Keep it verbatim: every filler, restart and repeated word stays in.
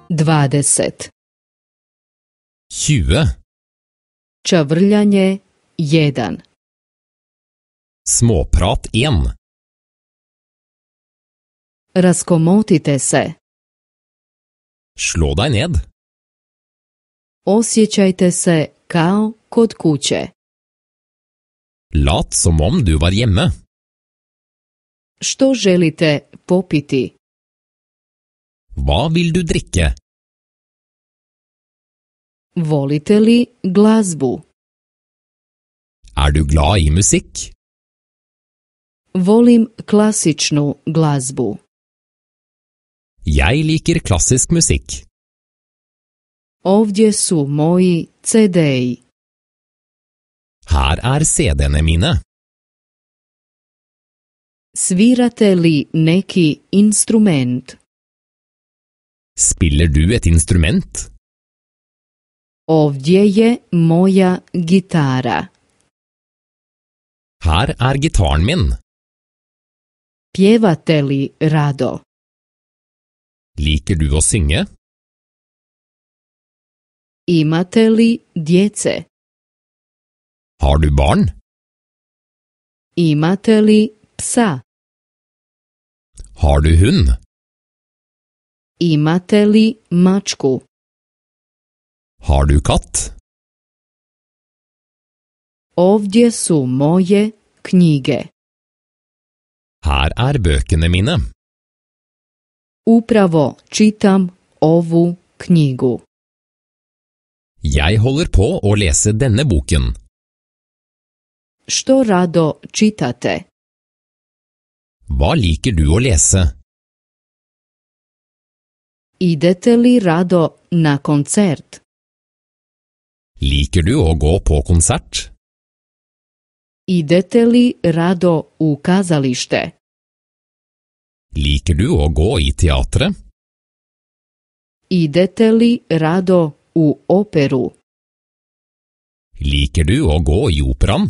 dvadeset. tjue. Čavrljanje jedan. Småprat en. Raskomotite se. Slå deg ned. Osjećajte se kao kod kuće. Lat som om du var hjemme. Što želite popiti? Hva vil du drikke? Volite li glazbu? Er du glad i musikk? Volim klasičnu glazbu. Jeg liker klassisk musikk. Ovdje su moji ce de-i. Her er ce de-ene mine. Svirate li neki instrument? Spiller du et instrument? Ovdje je moja gitara. Her er gitaren min. Pjevate li rado? Liker du å synge? Imate li djece? Har du barn? Imate li psa? Har du hund? Imate li mačku? Har du katt? Ovdje su moje knjige. Her er bøkene mine. Upravo čitam ovu knjigu. Jeg holder på å lese denne boken. Što rado čitate? Hva liker du å lese? Idete li rado na koncert? Liker du å gå på konsert? Idete li rado u kazalište? Liker du å gå i teatret? Idete li rado u operu? Liker du å gå i operaen?